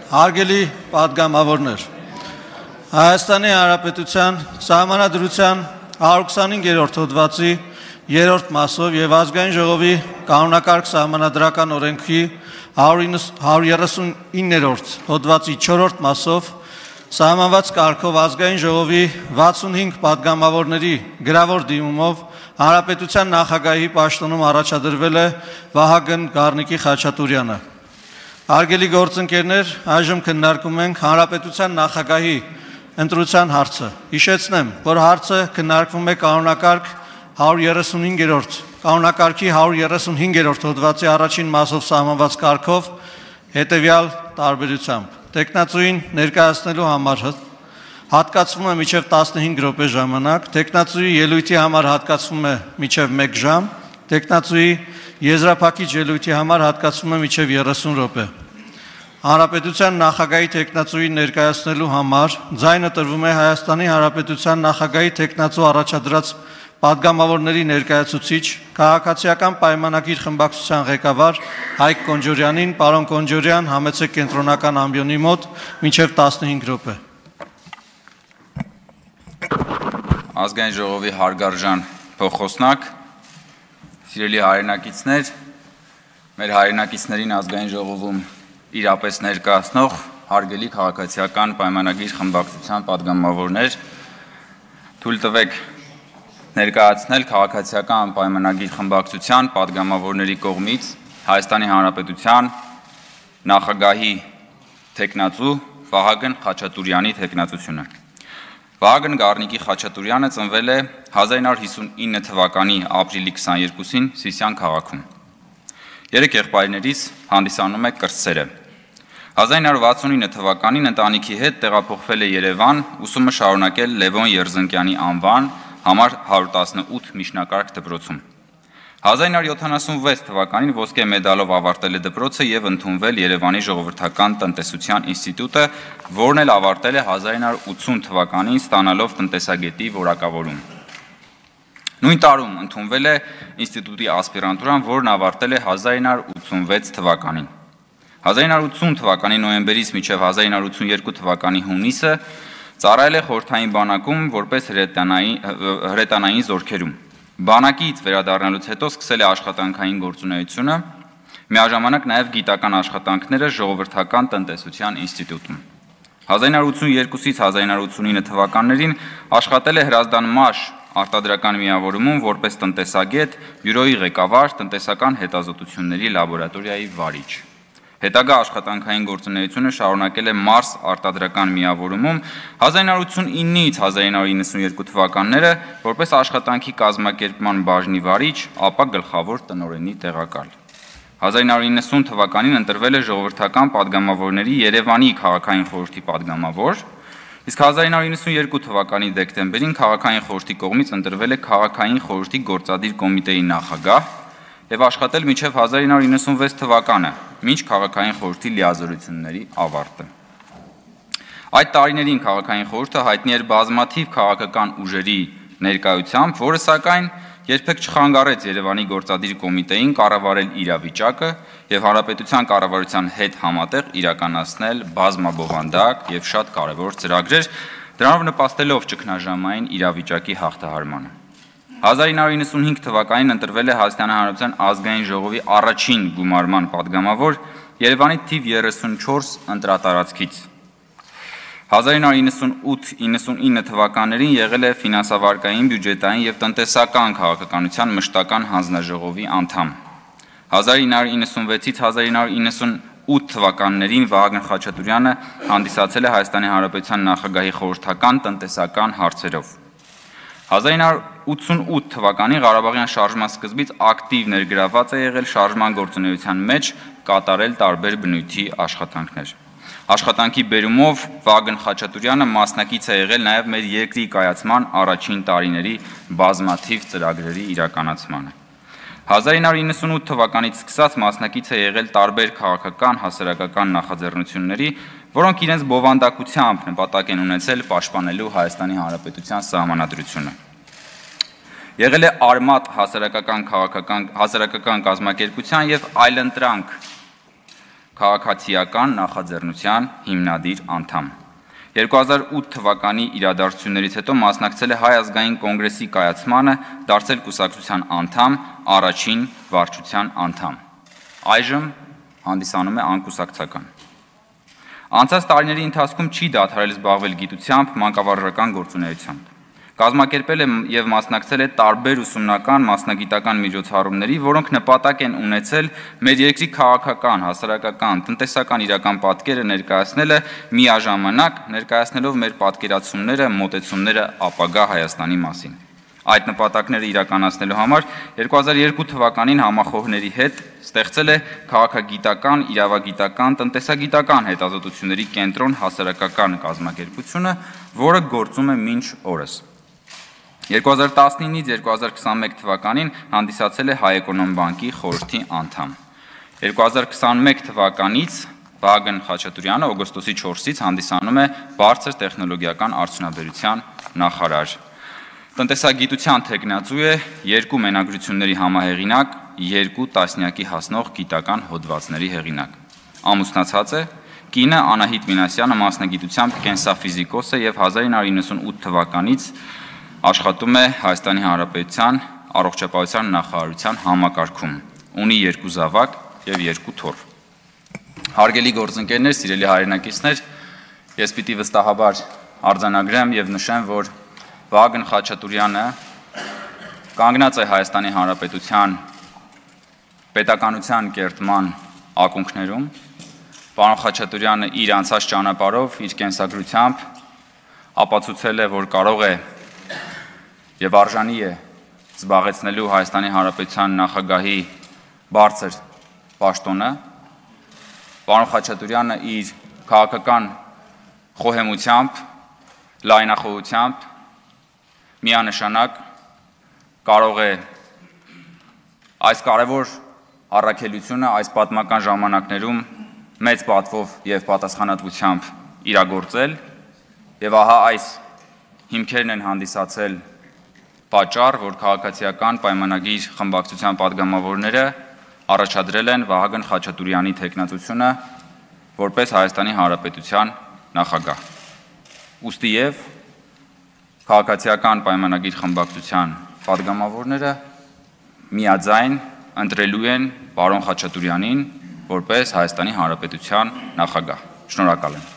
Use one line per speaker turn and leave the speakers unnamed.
Հարգելի պատգամավորներ, Հայաստանի Հանրապետության Սահմանադրության 125-րդ հոդվածի 3-րդ մասով եւ Ազգային ժողովի կանոնակարգ սահմանադրական օրենքի 139-րդ հոդվածի 4-րդ մասով սահմանված կարգով Ազգային ժողովի 65 պատգամավորների գրավոր դիմումով Հանրապետության նախագահի պաշտոնում առաջադրվել է Վահագն Գառնիկի Խաչատուրյանը։ Հարգելի գործընկերներ, այժմ քննարկում ենք Հանրապետության նախագահի ընտրության հարցը։ Հիշեցնեմ, որ հարցը քննարկվում է կանոնակարգի 135-րդ հոդվածի առաջին մասով սահմանված կարգով հետևյալ տարբերությամբ։ Տեխնացուին ներկայացնելու համար հատկացվում է մինչև 15 րոպե ժամանակ, տեխնացուի ելույթի համար հատկացվում է մինչև 1 ժամ, տեխնացուի եզրափակիչ ելույթի համար հատկացվում է մինչև 30 րոպե։ Հանրապետության նախագահի տեխնացուի ներկայացնելու համար ձայնը տրվում է Հայաստանի Հանրապետության նախագահի տեխնացու առաջադրած պատգամավորների ներկայացուցիչ, քաղաքացիական պայմանագիր խմբակցության ղեկավար Հայկ Կոնջորյանին, պարոն Կոնջորյան, համեցեք կենտրոնական ամբիոնի մոտ մինչև 15 րոպե։
Ազգային ժողովի հարգարժան փոխոսնակ, սիրելի հայրենակիցներ, մեր հայրենակիցներին ազգային ժողովում իրապես ներկայացնող հարգելի քաղաքացիական պայմանագիր խմբակցության պատգամավորներ, թույլ տվեք ներկայացնել քաղաքացիական պայմանագիր խմբակցության պատգամավորների կողմից Հայաստանի Հանրապետության նախագահի տեխնացու Վահագն Խաչատուրյանի տեխնացությունը։ Վահագն Գառնիկի Խաչատուրյանը ծնվել է 1959 թվականի ապրիլի 22-ին Սիսիան քաղաքում։ 3 եղբայրներից հանդիսանում է կրտսերը։ 1969 թվականին ընտանիքի հետ տեղափոխվել է Երևան, ուսումը շարունակել Լևոն Երզնկյանի անվան համար 118 միջնակարգ դպրոցում։ 1976 թվականին ոսկե մեդալով ավարտել է դպրոցը եւ ընդունվել Երևանի ժողովրդական տնտեսության ինստիտուտը, որն էլ ավարտել է 1980 թվականին ստանալով տնտեսագետի որակավորում։ Նույն տարում ընդունվել է ինստիտուտի ասպիրանտուրան, որն ավարտել է 1986 թվականին։ 1980 թվականի նոյեմբերից մինչև 1982 թվականի հունիսը ծառայել է խորհրդային բանակում որպես հրետանային զորքերում։ Բանակից վերադառնալուց հետո սկսել է աշխատանքային գործունեությունը, միաժամանակ նաև գիտական աշխատանքները ժողովրդական տնտեսության ինստիտուտում։ 1982-ից 1989 թվականներին աշխատել է Հրազդան Մաշ արտադրական միավորումում որպես տնտեսագետ, բյուրոյի ղեկավար, տնտեսական հետազոտությունների լաբորատորիայի վարիչ։ Հետագա աշխատանքային գործունեությունը շարունակել է Մարս արտադրական միավորումում 1989-ից 1992 թվականները որպես աշխատանքի կազմակերպման բաժնի վարիչ, ապա գլխավոր տնօրենի տեղակալ։ 1990 թվականին ընտրվել է ժողովրդական պատգամավորների Երևանի քաղաքային խորհրդի պատգամավոր, իսկ 1992 թվականի դեկտեմբերին քաղաքային խորհրդի կողմից ընտրվել է քաղաքային խորհրդի գործադիր կոմիտեի նախագահ եւ աշխատել մինչև 1996 թվականը, մինչ քաղաքային խորհրդի լիազորությունների ավարտը։ Այդ տարիներին քաղաքային խորհուրդը հայտնի էր բազմաթիվ քաղաքական ուժերի ներկայությամբ, որը սակայն երբեք չխանգարեց Երևանի գործադիր կոմիտեին կառավարել իրավիճակը եւ հանրապետության կառավարության հետ համատեղ իրականացնել բազմաբովանդակ եւ շատ կարեւոր ծրագրեր, դրանով նպաստելով ճգնաժամային իրավիճակի հաղթահարմանը։ 1995 թվականին ընտրվել է Հայաստանի Հանրապետության ազգային ժողովի առաջին գումարման պատգամավոր Երևանի թիվ 34 ընտրատարածքից։ 1998-99 թվականներին եղել է ֆինանսավարկային, բյուջետային եւ տնտեսական քաղաքականության մշտական հանձնաժողովի անդամ։ 1996-ից 1998 թվականներին Վահագն Խաչատուրյանը հանդիսացել է Հայաստանի Հանրապետության նախագահի խորհրդական տնտեսական հարցերով։ 1988 թվականին Ղարաբաղյան շարժման սկզբից ակտիվ ներգրավված է եղել շարժման գործունեության մեջ, կատարել տարբեր բնույթի աշխատանքներ։ Աշխատանքի բերումով Վահագն Խաչատուրյանը մասնակից է եղել նաև մեր երկրի կայացման առաջին տարիների բազմաթիվ ծրագրերի իրականացմանը։ 1998 թվականից սկսած մասնակից է եղել տարբեր քաղաքական, հասարակական նախաձեռնությունների, որոնք իրենց բովանդակությամբ նպատակ են ունեցել պաշտպանելու Հայաստանի Հանրապետության սահմանադրությունը։ Եղել է Արմատ հասարակական կազմակերպության եւ Այլընտրանք քաղաքացիական նախաձեռնության հիմնադիր անդամ։ 2008 թվականի իրադարձություններից հետո մասնակցել է Հայ ազգային կոնգրեսի կայացմանը, դարձել կուսակցության անդամ, առաջին վարչության անդամ։ Այժմ հանդիսանում է անկուսակցական։ Անցած տարիների ընթացքում չի դադարել զբաղվել գիտությամբ, մանկավարժական գործունեությամբ։ Կազմակերպել է եւ մասնակցել է տարբեր ուսումնական, մասնագիտական միջոցառումների, որոնք նպատակ են ունեցել մեր երկրի քաղաքական, հասարակական, տնտեսական իրական պատկերը ներկայացնելը, միաժամանակ ներկայացնելով մեր պատկերացումները, մոտեցումները ապագա Հայաստանի մասին։ Այդ նպատակները իրականացնելու համար 2002 թվականին համախոհների հետ ստեղծել է քաղաքագիտական, իրավագիտական, տնտեսագիտական հետազոտությունների կենտրոն հասարակական կազմակերպությունը, որը գործում է մինչ օրս։ 2019-ից 2021 թվականին հանդիսացել է Հայ Էկոնոմբանկի խորհրդի անդամ։ 2021 թվականից Վահագն Խաչատուրյանը օգոստոսի 4-ից հանդիսանում է բարձր տեխնոլոգիական արդյունաբերության նախարար։ Տնտեսագիտության թեկնածու է, 2 մենագրությունների համահեղինակ, 2 տասնյակի հասնող գիտական հոդվածների հեղինակ։ Ամուսնացած է, կինը Անահիտ Մինասյանը մասնագիտությամբ կենսաֆիզիկոս է եւ 1998 թվականից աշխատում է Հայաստանի Հանրապետության առողջապահության նախարարության համակարգում։ Ունի 2 զավակ եւ 2 թոռ։ Հարգելի գործընկերներ, սիրելի հայրենակիցներ, ես պիտի վստահաբար արձանագրեմ եւ նշեմ, որ Վահագն Խաչատուրյանը կանգնած է Հայաստանի Հանրապետության պետականության կերտման ակունքներում։ Պարոն Խաչատուրյանը իր անցած ճանապարհով, իր կենսագրությամբ ապացուցել է, որ կարող է եւ արժանի է զբաղեցնելու Հայաստանի Հանրապետության նախագահի բարձր պաշտոնը։ Պարոն Խաչատուրյանը իր քաղաքական խոհեմությամբ, լայնախոհությամբ միանշանակ կարող է այս կարևոր առաքելությունը այս պատմական ժամանակներում մեծ պատվով եւ պատասխանատվությամբ իրագործել եւ ահա այս հիմքերն են հանդիսացել պատճառ, որ քաղաքացիական պայմանագիր խմբակցության падգամավորները առաջադրել են Վահագն Խաչատուրյանի թեկնածությունը որպես Հայաստանի Հանրապետության նախագահ։ Ուստի եւ քաղաքացիական պայմանագիր խմբակցության падգամավորները միաձայն ընտրելու են պարոն Խաչատուրյանին որպես Հայաստանի Հանրապետության նախագահ։ Շնորհակալ եմ։